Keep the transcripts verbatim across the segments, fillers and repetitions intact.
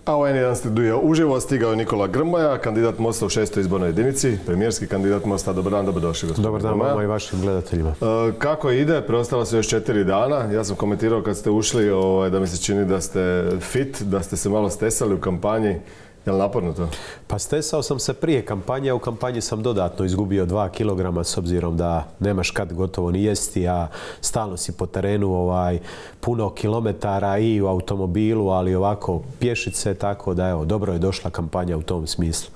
A u en jedan studiju uživo stigao je Nikola Grmoja, kandidat Mosta u šestoj izbornoj jedinici, premijerski kandidat Mosta. Dobar dan, dobrodošli gospodine. Dobar dan vama i vašim gledateljima. Kako ide? Preostalo su još četiri dana. Ja sam komentirao kad ste ušli da mi se čini da ste fit, da ste se malo stesali u kampanji. Je li naporno to? Pa stesao sam se prije kampanje, a u kampanji sam dodatno izgubio dva kilograma s obzirom da nemaš kad gotovo ni jesti, a stalno si po terenu ovaj, puno kilometara i u automobilu, ali ovako pješice, tako da evo, dobro je došla kampanja u tom smislu.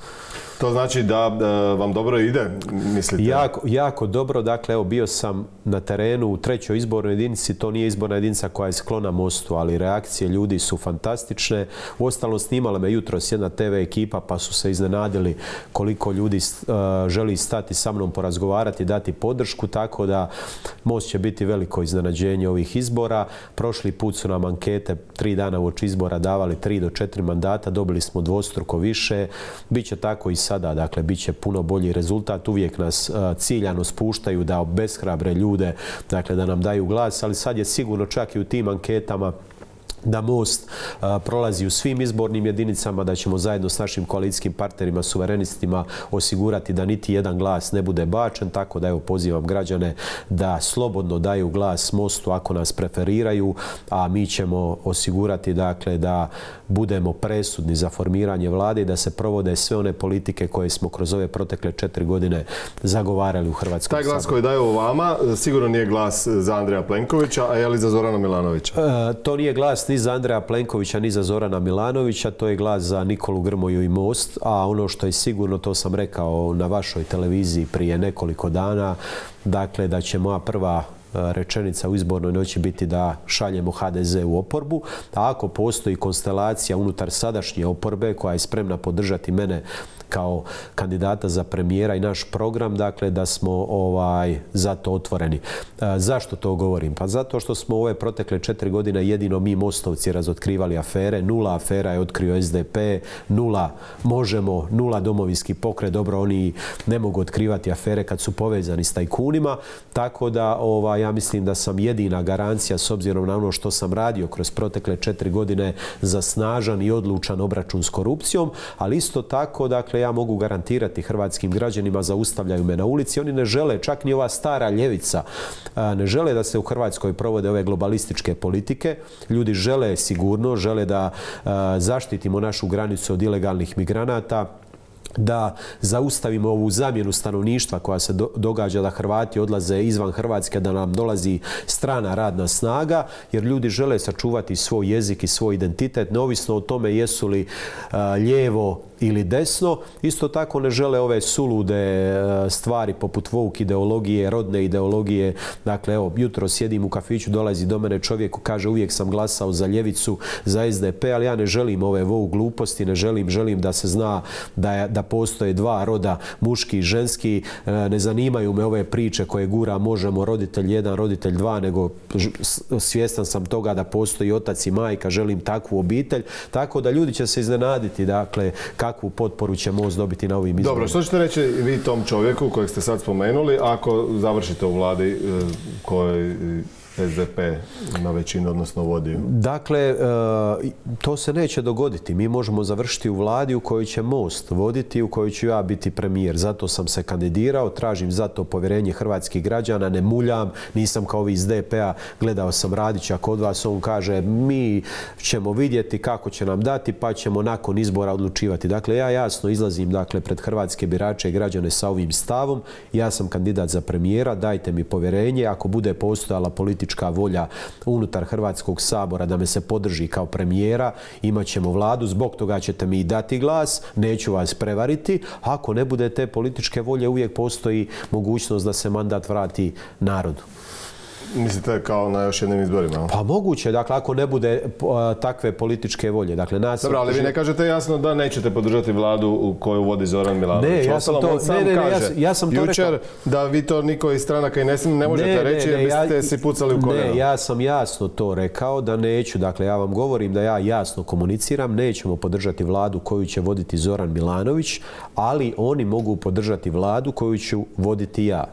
To znači da, da vam dobro ide, mislite? Jako, jako dobro. Dakle, evo, bio sam na terenu u trećoj izbornoj jedinici. To nije izborna jedinica koja je sklona Mostu, ali reakcije ljudi su fantastične. Uostalom, snimala me jutros jedna te ve ekipa, pa su se iznenadili koliko ljudi uh, želi stati sa mnom, porazgovarati, dati podršku, tako da Most će biti veliko iznenađenje ovih izbora. Prošli put su nam ankete tri dana uoči izbora davali tri do četiri mandata, dobili smo dvostruko više. Biće tako i sada, dakle, bit će puno bolji rezultat. Uvijek nas uh, ciljano spuštaju da obeshrabre ljude, dakle, da nam daju glas, ali sad je sigurno čak i u tim anketama da Most uh, prolazi u svim izbornim jedinicama, da ćemo zajedno s našim koalicijskim partnerima, suverenistima, osigurati da niti jedan glas ne bude bačen, tako da evo pozivam građane da slobodno daju glas Mostu ako nas preferiraju, a mi ćemo osigurati, dakle, da budemo presudni za formiranje vlade i da se provode sve one politike koje smo kroz ove protekle četiri godine zagovarali u Hrvatskom saboru. Taj glas koji daju vama sigurno nije glas za Andreja Plenkovića, a je li za Zorana Milanovića? Uh, to nije glas ni za Andreja Plenkovića, ni za Zorana Milanovića, to je glas za Nikolu Grmoju i Most, a ono što je sigurno, to sam rekao na vašoj televiziji prije nekoliko dana, dakle, da će moja prva rečenica u izbornoj noći biti da šaljemo ha de ze u oporbu, a ako postoji konstelacija unutar sadašnje oporbe koja je spremna podržati mene kao kandidata za premijera i naš program, dakle, da smo ovaj, za to otvoreni. E, zašto to govorim? Pa zato što smo ove protekle četiri godine jedino mi Mostovci razotkrivali afere. Nula afera je otkrio es de pe, nula Možemo, nula Domovinski pokret. Dobro, oni ne mogu otkrivati afere kad su povezani s tajkunima, tako da ovaj, ja mislim da sam jedina garancija, s obzirom na ono što sam radio kroz protekle četiri godine, za snažan i odlučan obračun s korupcijom, ali isto tako, dakle, ja mogu garantirati hrvatskim građanima, zaustavljaju me na ulici. Oni ne žele, čak ni ova stara ljevica, ne žele da se u Hrvatskoj provode ove globalističke politike. Ljudi žele sigurno, žele da zaštitimo našu granicu od ilegalnih migranata, da zaustavimo ovu zamjenu stanovništva koja se do, događa, da Hrvati odlaze izvan Hrvatske, da nam dolazi strana radna snaga, jer ljudi žele sačuvati svoj jezik i svoj identitet, neovisno o tome jesu li uh, lijevo ili desno. Isto tako ne žele ove sulude uh, stvari poput woke ideologije, rodne ideologije. Dakle, evo, jutro sjedim u kafiću, dolazi do mene čovjek, kaže uvijek sam glasao za ljevicu, za es de pe, ali ja ne želim ove woke gluposti, ne želim, želim da se zna da je, da postoje dva roda, muški i ženski. Ne zanimaju me ove priče koje gura Možemo, roditelj jedan, roditelj dva, nego svjestan sam toga da postoji otac i majka, želim takvu obitelj, tako da ljudi će se iznenaditi, dakle, kakvu potporu će Most dobiti na ovim izborima. Dobro, što ćete reći vi tom čovjeku kojeg ste sad spomenuli ako završite u vladi kojoj es de pe na većinu, odnosno vodi? Dakle, to se neće dogoditi. Mi možemo završiti u vladi u kojoj će Most voditi, u kojoj ću ja biti premijer. Zato sam se kandidirao, tražim zato povjerenje hrvatskih građana, ne muljam, nisam kao ovi iz de pe-a, gledao sam Radića kod vas, on kaže mi ćemo vidjeti kako će nam dati, pa ćemo nakon izbora odlučivati. Dakle, ja jasno izlazim, dakle, pred hrvatske birače i građane sa ovim stavom. Ja sam kandidat za premijera, dajte mi povjerenje. Ako bude postojala politika volja unutar Hrvatskog sabora da me se podrži kao premijera, imat ćemo vladu, zbog toga ćete mi dati glas, neću vas prevariti. Ako ne bude te političke volje, uvijek postoji mogućnost da se mandat vrati narodu. Mislite kao na još jednim izborima? Pa moguće, dakle, ako ne bude uh, takve političke volje. Dakle, nas... Dobro, ali vi ne kažete jasno da nećete podržati vladu u koju vodi Zoran Milanović. Ne, ja sam to, ne, ne, ne, ja, ja sam to jučer rekao. Da vi to niko iz stranaka i ne, ne možete ne, reći ne, ne, jer biste ja, si pucali u koljeno. Ne, ja sam jasno to rekao da neću. Dakle, ja vam govorim da ja jasno komuniciram, nećemo podržati vladu koju će voditi Zoran Milanović, ali oni mogu podržati vladu koju ću voditi ja.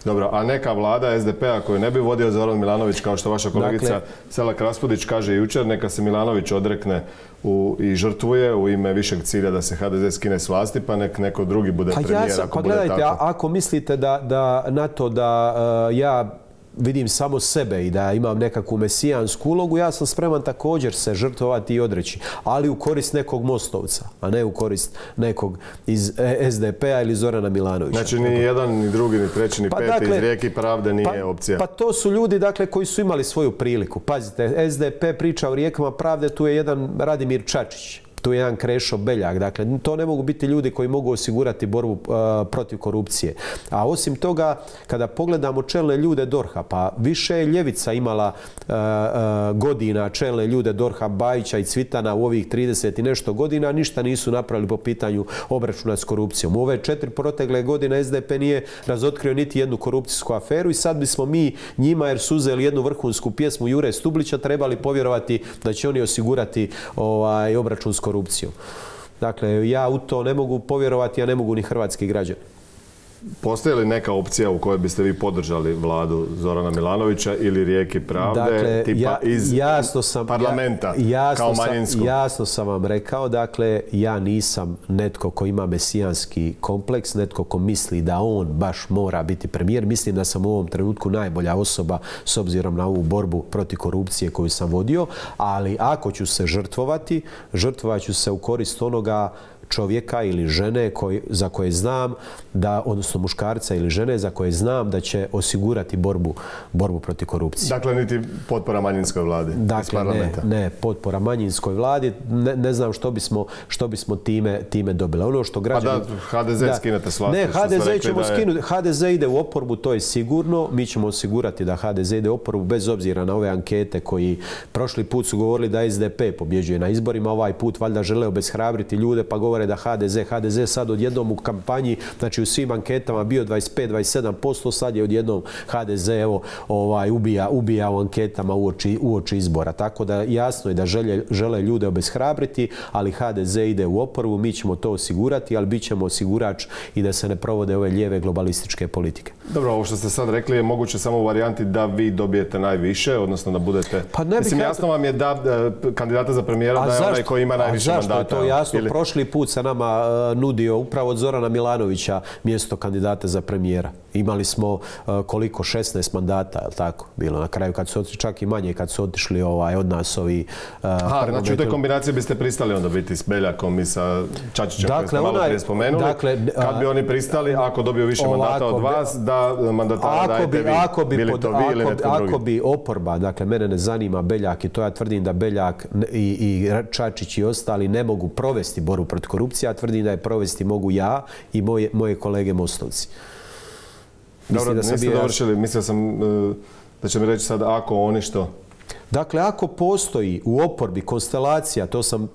Dobro, a neka vlada es de pe-a koju ne bi vodio Zoran Milanović, kao što vaša kolegica dakle, Selak Raspudić kaže jučer, neka se Milanović odrekne u, i žrtvuje u ime višeg cilja da se ha de ze skine s vlasti, pa nek neko drugi bude pa premijer. Ja sam, ako pa bude gledajte, tako. A, ako mislite da, da na to da uh, ja vidim samo sebe i da imam nekakvu mesijansku ulogu, ja sam spreman također se žrtvovati i odreći, ali u korist nekog Mostovca, a ne u korist nekog iz es de pe-a ili Zorana Milanovića. Znači ni jedan, ni drugi, ni treći, ni pa, peti dakle, iz Rijeke pravde nije pa, opcija. Pa to su ljudi dakle, koji su imali svoju priliku. Pazite, es de pe priča o Rijekama pravde, tu je jedan Radimir Čačić. Tu je jedan Krešo Beljak. Dakle, to ne mogu biti ljudi koji mogu osigurati borbu uh, protiv korupcije. A osim toga, kada pogledamo čelne ljude dorha, pa više je ljevica imala uh, uh, godina čelne ljude dorha, Bajića i Cvitana u ovih trideset i nešto godina, ništa nisu napravili po pitanju obračuna s korupcijom. U ove četiri protegle godine es de pe nije razotkrio niti jednu korupcijsku aferu i sad bismo mi njima, jer su uzeli jednu vrhunsku pjesmu Jure Stublića, trebali povjerovati da će oni osigurati ovaj, obračun s korupcijom. Dakle, ja u to ne mogu povjerovati, a ne mogu ni hrvatski građani. Postoji li neka opcija u kojoj biste vi podržali vladu Zorana Milanovića ili Rijeke pravde, dakle, tipa ja, iz jasno sam, parlamenta, ja, jasno kao manjinsko? Sam, jasno sam vam rekao, dakle, ja nisam netko ko ima mesijanski kompleks, netko ko misli da on baš mora biti premijer. Mislim da sam u ovom trenutku najbolja osoba s obzirom na ovu borbu protiv korupcije koju sam vodio, ali ako ću se žrtvovati, žrtvovat ću se u korist onoga čovjeka ili žene koji, za koje znam da, odnosno muškarca ili žene za koje znam da će osigurati borbu, borbu protiv korupcije. Dakle, niti potpora manjinskoj vladi dakle, iz parlamenta? Ne, ne, potpora manjinskoj vladi. Ne, ne znam što bismo, što bismo time, time dobili. Ono što građani... Pa da, ha de ze da, skinete s vlasti. Ne, ha de ze ćemo je... skinuti. ha de ze ide u oporbu, to je sigurno. Mi ćemo osigurati da ha de ze ide u oporbu bez obzira na ove ankete koji prošli put su govorili da es de pe pobjeđuje na izborima. Ovaj put valjda žele obeshrabriti ljude pa govore da ha de ze, ha de ze sad odjednom u kampanji, znači u svim anketama bio dvadeset pet do dvadeset sedam posto, sad je odjednom ha de ze evo, ovaj, ubija, ubija u anketama uoči, uoči izbora. Tako da jasno je da žele, žele ljude obeshrabriti, ali ha de ze ide u oporbu, mi ćemo to osigurati, ali bit ćemo osigurač i da se ne provode ove lijeve globalističke politike. Dobro, ovo što ste sad rekli je moguće samo u varijanti da vi dobijete najviše, odnosno da budete... Pa ne Mislim, jasno vam je da, da kandidata za premijera da je onaj koji ima najviše mandata. A zašto je to jasno? Ili... Prošli put se nama uh, nudio upravo od Zorana Milanovića mjesto kandidata za premijera. Imali smo uh, koliko, šesnaest mandata, je li tako? Bilo na kraju kad su otišli, čak i manje kad su otišli ovaj, od nas ovi... Uh, Aha, znači u toj kombinaciji biste pristali onda biti s Beljakom i sa Čačićem, dakle, koji ste malo prije spomenuli. Dakle, kad bi oni pristali, ako dobiju više ovako, mandata od vas, da mandatara dajete vi, ako bi, bili pod, to vi ako, ili netko ako drugi. bi oporba, dakle mene ne zanima Beljak i to ja tvrdim da Beljak i, i Čačić i ostali ne mogu provesti borbu protiv korupcije, ja tvrdim da je provesti mogu ja i moje, moje kolege Mostovci. Dobro, da niste dovršili, mislio sam da će mi reći sad ako oni što... Dakle, ako postoji u oporbi konstelacija, to sam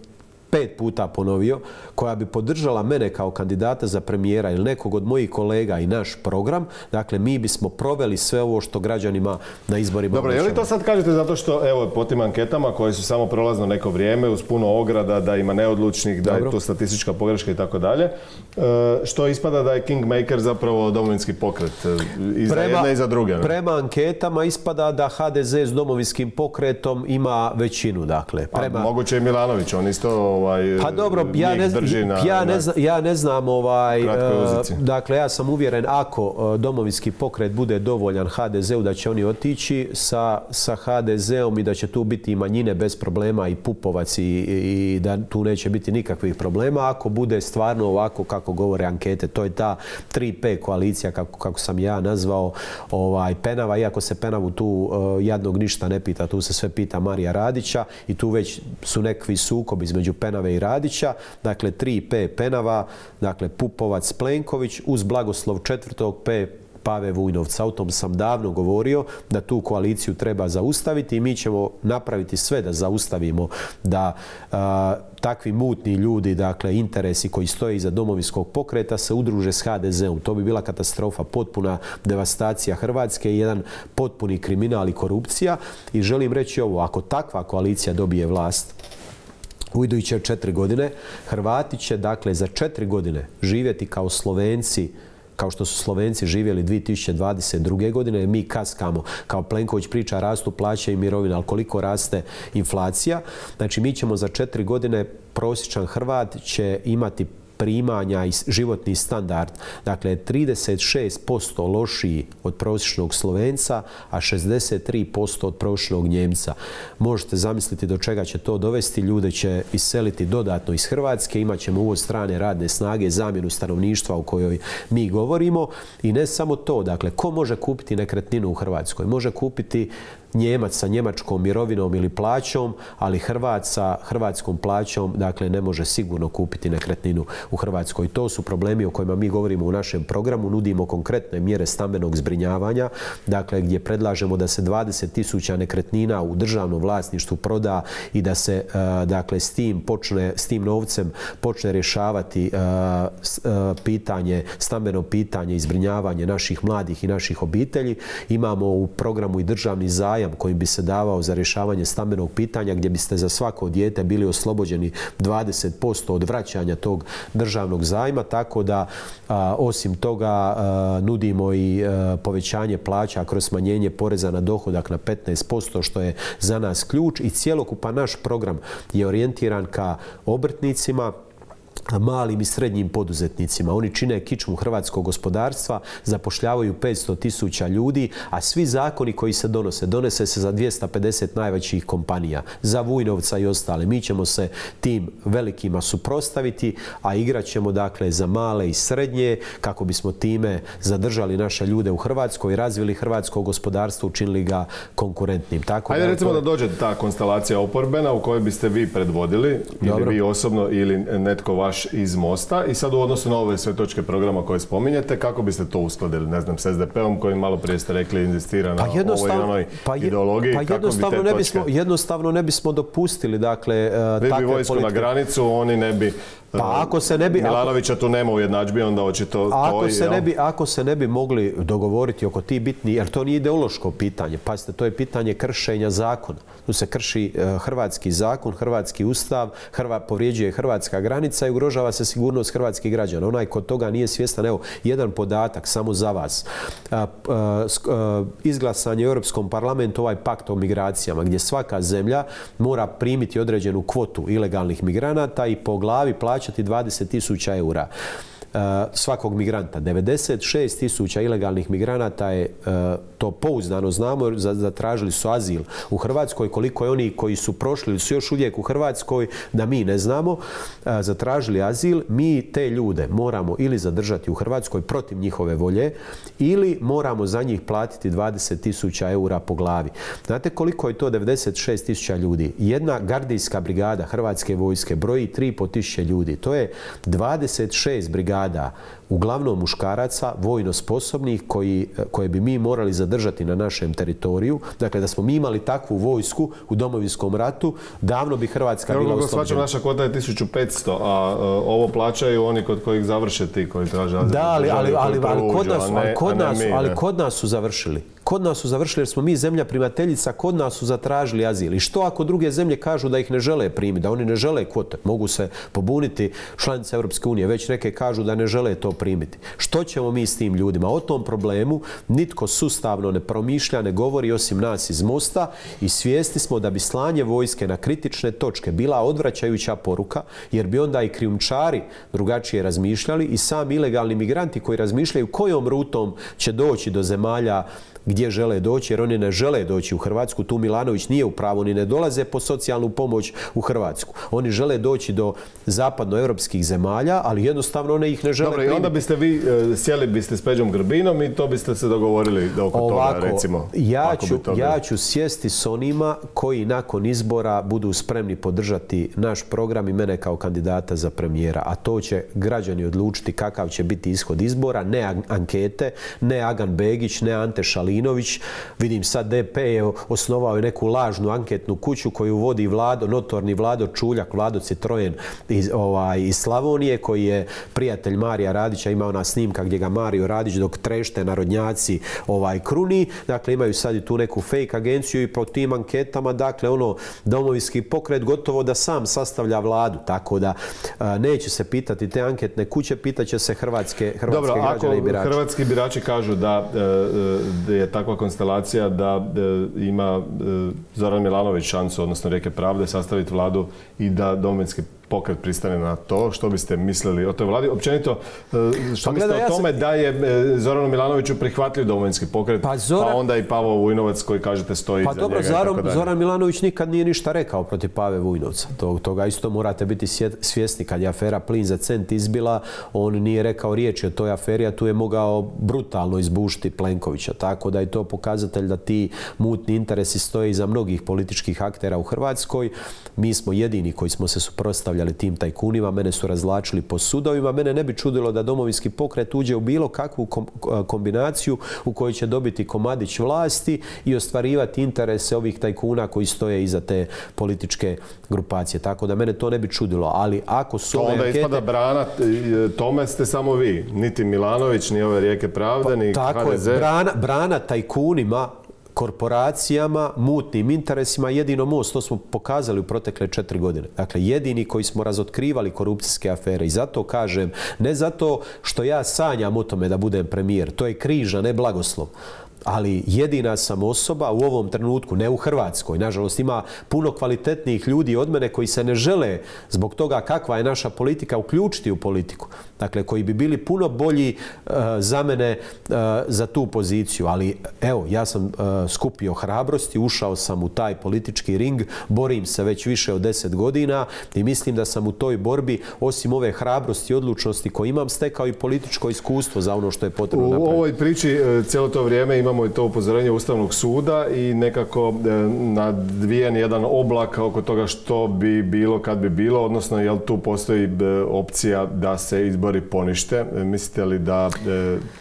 pet puta ponovio, koja bi podržala mene kao kandidata za premijera ili nekog od mojih kolega i naš program, dakle, mi bismo proveli sve ovo što građanima na izborima... Dobro, je li to sad kažete zato što, evo, po tim anketama koje su samo prolazno neko vrijeme, uz puno ograda, da ima neodlučnih, da Dobro. je tu statistička pogreška i tako dalje, što ispada da je Kingmaker zapravo domovinski pokret i za prema, jedne i za druge? Ne? Prema anketama ispada da ha de ze s domovinskim pokretom ima većinu, dakle. Prema... A moguće i Milanović, on isto... Ovaj, pa dobro, ja ne, na, ja, ne zna, ja ne znam, ovaj, uh, dakle, ja sam uvjeren ako uh, domovinski pokret bude dovoljan ha de zeu da će oni otići sa, sa ha de zeom i da će tu biti i manjine bez problema i Pupovac i, i da tu neće biti nikakvih problema. Ako bude stvarno ovako kako govore ankete, to je ta tri pe koalicija kako, kako sam ja nazvao ovaj, Penava, iako se Penavu tu uh, jadnog ništa ne pita, tu se sve pita Marija Radića i tu već su nekakvi sukobi između Penave i Radića, dakle tri pe Penava, dakle Pupovac, Plenković uz blagoslov četvrtog pe Pave Vujnovca. O tom sam davno govorio da tu koaliciju treba zaustaviti i mi ćemo napraviti sve da zaustavimo da a, takvi mutni ljudi, dakle interesi koji stoje iza domovinskog pokreta se udruže s ha de zeom. To bi bila katastrofa, potpuna devastacija Hrvatske i jedan potpuni kriminal i korupcija. I želim reći ovo, ako takva koalicija dobije vlast u iduće četiri godine, Hrvati će dakle za četiri godine živjeti kao Slovenci kao što su Slovenci živjeli dvije tisuće dvadeset druge. godine, mi kaskamo, kao Plenković priča, rastu plaće i mirovina, ali koliko raste inflacija. Znači, mi ćemo za četiri godine, prosječan Hrvat će imati primanja i životni standard, dakle, trideset šest posto lošiji od prosječnog Slovenca, a šezdeset tri posto od prosječnog Njemca. Možete zamisliti do čega će to dovesti. Ljude će iseliti dodatno iz Hrvatske, imat ćemo uvoz strane radne snage, zamjenu stanovništva o kojoj mi govorimo. I ne samo to, dakle, ko može kupiti nekretninu u Hrvatskoj? Može kupiti Njemac sa njemačkom mirovinom ili plaćom, ali Hrvat sa hrvatskom plaćom, dakle, ne može sigurno kupiti nekretninu u Hrvatskoj. To su problemi o kojima mi govorimo u našem programu. Nudimo konkretne mjere stambenog zbrinjavanja, dakle, gdje predlažemo da se dvadeset tisuća nekretnina u državnom vlasništvu proda i da se, dakle, s tim počne, s tim novcem počne rješavati pitanje, stambeno pitanje i zbrinjavanje naših mladih i naših obitelji. Imamo u programu i državni zajam kojim bi se davao za rješavanje stambenog pitanja, gdje biste za svako dijete bili oslobođeni dvadeset posto od vraćanja tog državnog zajma, tako da a, osim toga a, nudimo i a, povećanje plaća kroz smanjenje poreza na dohodak na petnaest posto, što je za nas ključ, i cjelokupan naš program je orijentiran ka obrtnicima, malim i srednjim poduzetnicima. Oni čine kičmu hrvatskog gospodarstva, zapošljavaju petsto tisuća ljudi, a svi zakoni koji se donose, donose se za dvjesto pedeset najvećih kompanija, za Vujnovca i ostale. Mi ćemo se tim velikima suprotstaviti, a igrat ćemo, dakle, za male i srednje, kako bismo time zadržali naše ljude u Hrvatskoj, razvili hrvatsko gospodarstvo, učinili ga konkurentnim. Tako Ajde, da, recimo to... da dođe ta konstelacija oporbena u kojoj biste vi predvodili, Dobro. ili vi osobno, ili netko vaš iz Mosta, i sad u odnosu na ove sve točke programa koje spominjete, kako biste to uskladili, ne znam, s es de pe om koji malo prije ste rekli inzistira na pa ovoj onoj pa je, ideologiji, pa kako bi te točke... Ne bismo, jednostavno ne bismo dopustili, dakle, vi takve bi vojsku politike. Na granicu, oni ne bi... Pa ako se ne bi... Milanovića tu nema u jednadžbi, onda očito ako to... Se ne bi, ako se ne bi mogli dogovoriti oko ti bitni, jer to nije ideološko pitanje, pazite, to je pitanje kršenja zakona. Tu se krši hrvatski zakon, hrvatski ustav, Hrva, povrijeđuje hrvatska granica i ugrožava se sigurnost hrvatskih građana. Onaj kod toga nije svjestan, evo, jedan podatak samo za vas. Izglasan je u Europskom parlamentu ovaj pakt o migracijama, gdje svaka zemlja mora primiti određenu kvotu ilegalnih migranata i po glavi plaćati dvadeset tisuća eura. Svakog migranta. devedeset šest tisuća ilegalnih migranata je, to pouzdano znamo, zatražili su azil u Hrvatskoj. Koliko je oni koji su prošli ili su još uvijek u Hrvatskoj, da mi ne znamo, zatražili azil. Mi te ljude moramo ili zadržati u Hrvatskoj protiv njihove volje, ili moramo za njih platiti dvadeset tisuća eura po glavi. Znate koliko je to devedeset šest tisuća ljudi? Jedna gardijska brigada Hrvatske vojske broji tri i pol tisuće ljudi. To je dvadeset šest brigada, uglavnom muškaraca, vojno sposobnih, koji, koje bi mi morali zadržati na našem teritoriju. Dakle, da smo mi imali takvu vojsku u Domovinskom ratu, davno bi Hrvatska bila oslobođena. Naša kvota je tisuću petsto, a uh, ovo plaćaju oni kod kojih završe ti koji traže azil. Da, ali, ali, ali, ali, kod nas, ali, kod nas, ali kod nas su završili. Kod nas su završili jer smo mi zemlja primateljica, kod nas su zatražili azil. I što ako druge zemlje kažu da ih ne žele primiti, da oni ne žele kvote? Mogu se pobuniti članice Europske unije, već neke kažu da ne žele to primiti. Što ćemo mi s tim ljudima? O tom problemu nitko sustavno ne promišlja, ne govori osim nas iz Mosta, i svjesni smo da bi slanje vojske na kritične točke bila odvraćajuća poruka, jer bi onda i krijumčari drugačije razmišljali i sami ilegalni migranti koji razmišljaju kojom rutom će doći do zemalja gdje žele doći, jer oni ne žele doći u Hrvatsku. Tu Milanović nije u pravu, oni ne dolaze po socijalnu pomoć u Hrvatsku. Oni žele doći do zapadnoevropskih zemalja, ali jednostavno one ih ne žele primiti. Dobro, i onda biste vi uh, sjeli biste s Peđom Grbinom i to biste se dogovorili oko Ovako, toga, recimo. Ja ću, ja ću sjesti s onima koji nakon izbora budu spremni podržati naš program i mene kao kandidata za premijera, a to će građani odlučiti kakav će biti ishod izbora, ne ankete, ne Agan Begić, ne Ante Šalinović. Vidim sad de pe je osnovao neku lažnu anketnu kuću koju vodi Vlado, notorni Vlado Čuljak, Vlado Citroen iz, ovaj, iz Slavonije, koji je prijatelj Marija Radića Radića, ima ona snimka gdje ga Mario Radić dok trešte narodnjaci ovaj, kruni. Dakle, imaju sad i tu neku fake agenciju i po tim anketama, dakle, ono, Domovinski pokret gotovo da sam sastavlja vladu, tako da a, neće se pitati te anketne kuće, pitaće se hrvatske, hrvatske Dobro, građane i birače. Ako hrvatski birači kažu da, da je takva konstelacija da ima Zoran Milanović šansu, odnosno Rijeke pravde, sastaviti vladu i da Domovinski pokret pristane na to, što biste mislili o toj vladi? Općenito, što pa mislite o tome ja sam... da je Zoranu Milanoviću prihvatljiv Domovinski pokret, pa, Zoran... pa onda i Pavo Vujnovac koji kažete stoji pa iza dobro, njega Zoran, i tako dalje. Zoran Milanović nikad nije ništa rekao protiv Pave Vujnovca. Tog, toga isto morate biti svjesni. Kad je afera Plin za cent izbila, on nije rekao riječi o toj aferi, a tu je mogao brutalno izbušiti Plenkovića. Tako da je to pokazatelj da ti mutni interesi stoje iza mnogih političkih aktera u Hrvatskoj. Mi smo jedini koji smo se suprotstavljali tim tajkunima, mene su razvlačili po sudovima. Mene ne bi čudilo da Domovinski pokret uđe u bilo kakvu kombinaciju u kojoj će dobiti komadić vlasti i ostvarivati interese ovih tajkuna koji stoje iza te političke grupacije. Tako da mene to ne bi čudilo. Ali ako su to ove onda ankete... ispada brana, tome ste samo vi. Niti Milanović, ni ove Rijeke pravde, pa, ni tako ha de ze. Je, brana, brana tajkunima, korporacijama, mutnim interesima, jedino Most, to smo pokazali u protekle četiri godine. Dakle, jedini koji smo razotkrivali korupcijske afere. I zato kažem, ne zato što ja sanjam o tome da budem premijer, to je križa, ne blagoslov. Ali jedina sam osoba u ovom trenutku, ne u Hrvatskoj, nažalost ima puno kvalitetnijih ljudi od mene koji se ne žele zbog toga kakva je naša politika uključiti u politiku. Dakle, koji bi bili puno bolji uh, za mene uh, za tu poziciju. Ali evo, ja sam uh, skupio hrabrosti, ušao sam u taj politički ring, borim se već više od deset godina i mislim da sam u toj borbi, osim ove hrabrosti i odlučnosti koje imam, stekao i političko iskustvo za ono što je potrebno napraviti. U ovoj priči cijelo to vrijeme imamo Imamo i to upozorenje Ustavnog suda i nekako nadvijen jedan oblak oko toga što bi bilo kad bi bilo, odnosno jel tu postoji opcija da se izbori ponište. Mislite li da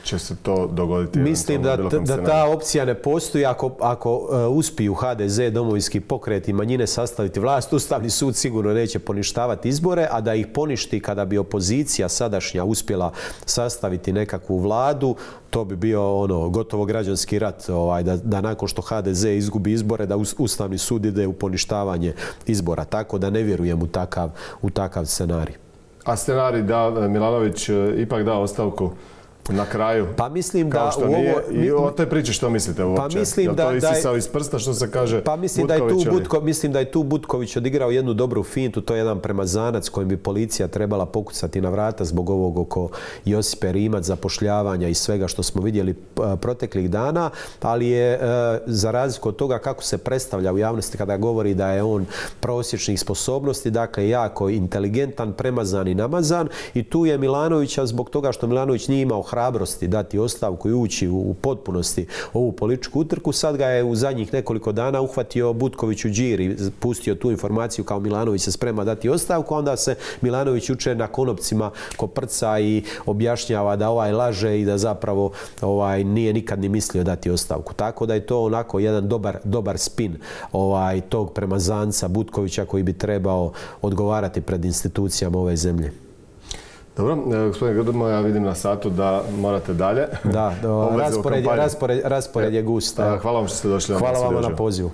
će se to dogoditi? Mislim da, da ta opcija ne postoji. Ako, ako uspiju ha de ze, Domovinski pokret i manjine sastaviti vlast, Ustavni sud sigurno neće poništavati izbore, a da ih poništi kada bi opozicija sadašnja uspjela sastaviti nekakvu vladu, to bi bio ono gotovo građanski rat, ovaj, da, da nakon što ha de ze izgubi izbore, da Ustavni sud ide u poništavanje izbora. Tako da ne vjerujem u takav, u takav scenarij. A scenarij da Milanović ipak da ostavku na kraju? Pa mislim da u ovo... I o toj priči što mislite uopće? Pa mislim Jel da... to isisao iz prsta što se kaže Pa mislim da, je tu Butko, mislim da je tu Butković odigrao jednu dobru fintu, to je jedan premazanac kojim bi policija trebala pokucati na vrata zbog ovog oko Josipe Rimac, zapošljavanja i svega što smo vidjeli proteklih dana, ali je za razliku od toga kako se predstavlja u javnosti kada govori da je on prosječnih sposobnosti, dakle jako inteligentan, premazan i namazan, i tu je Milanovića zbog toga što Milanović nije imao hrabrosti dati ostavku i ući u potpunosti ovu političku utrku. Sad ga je u zadnjih nekoliko dana uhvatio Butković u džir i pustio tu informaciju kao Milanović se sprema dati ostavku, onda se Milanović juče na konopcima koprca i objašnjava da ovaj laže i da zapravo ovaj nije nikad ni mislio dati ostavku. Tako da je to onako jedan dobar, dobar spin ovaj, tog premazanca Butkovića koji bi trebao odgovarati pred institucijama ove zemlje. Dobro, gospodine Grdomo, ja vidim na satu da morate dalje. Da, raspored, raspored, raspored je gust. Hvala vam što ste došli. Hvala vam na pozivu.